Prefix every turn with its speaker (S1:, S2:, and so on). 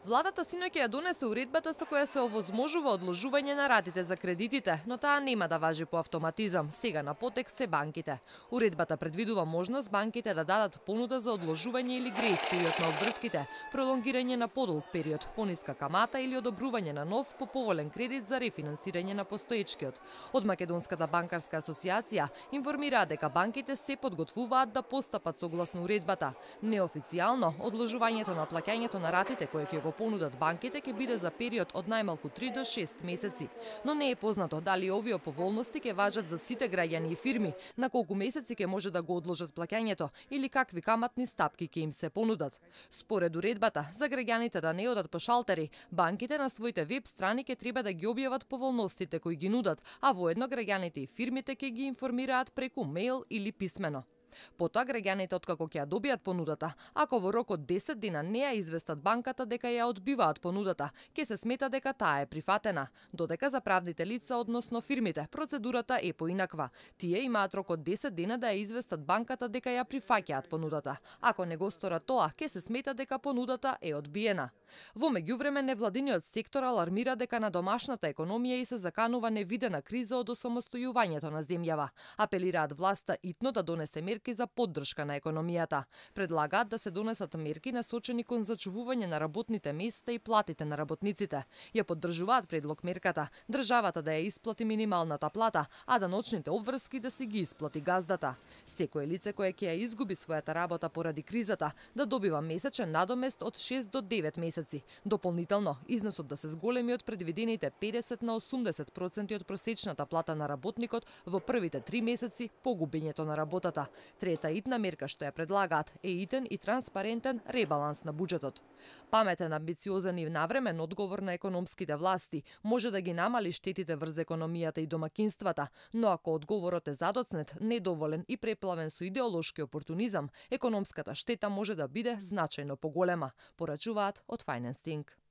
S1: Владата синоќа ја донесе уредбата со која се овозможува одложување на ратите за кредитите, но таа нема да важи по автоматизам. Сега на потек се банките. Уредбата предвидува можност банките да дадат понуда за одложување или грејс период на обврските, пролонгирање на подолг период, пониска камата или одобрување на нов поповолен кредит за рефинансирање на постоечкиот. Од Македонската банкарска асоциација информираат дека банките се подготвуваат да постапат согласно уредбата. Неофицијално, одложувањето на плаќањето на ратите кои ќе го понудат банките ќе биде за период од најмалку 3 до 6 месеци. Но не е познато дали овие поволности ќе важат за сите граѓани и фирми, на колку месеци ќе може да го одложат плаќањето или какви каматни стапки ќе им се понудат. Според уредбата, за граѓаните да не одат по шалтери, банките на своите веб страни ќе треба да ги објават поволностите кои ги нудат, а воедно граѓаните и фирмите ќе ги информираат преку мејл или писмено. Потоа граѓаните откако ќе ја добијат понудата, ако во рок од 10 дена не ја известат банката дека ја одбиваат понудата, ќе се смета дека таа е прифатена, додека за правните лица, односно фирмите, процедурата е поинаква. Тие имаат рок од 10 дена да ја известат банката дека ја прифаќаат понудата. Ако не го сторат тоа, ќе се смета дека понудата е одбиена. Во меѓувреме, невладиниот сектор алармира дека на домашната економија и се заканува невидена криза од осамостојувањето на земјава. Апелираат власта итно да донесе мерки за поддршка на економијата. Предлагаат да се донесат мерки насочени кон зачувување на работните места и платите на работниците. Ја поддржуваат предлог мерката државата да ја исплати минималната плата, а да ночните обврски да си ги исплати газдата. Секое лице кое ќе ја изгуби својата работа поради кризата да добива месечен надомест од 6 до 9 месеци. Дополнително, износот да се зголеми од предвидените 50 на 80% од просечната плата на работникот во првите 3 месеци по губењето на работата. Трета итна мерка што ја предлагаат е итен и транспарентен ребаланс на буџетот. Паметен, амбициозен и навремен одговор на економските власти може да ги намали штетите врз економијата и домакинствата, но ако одговорот е задоцнет, недоволен и преплавен со идеолошки опортунизам, економската штета може да биде значајно поголема, порачуваат од Finance Think.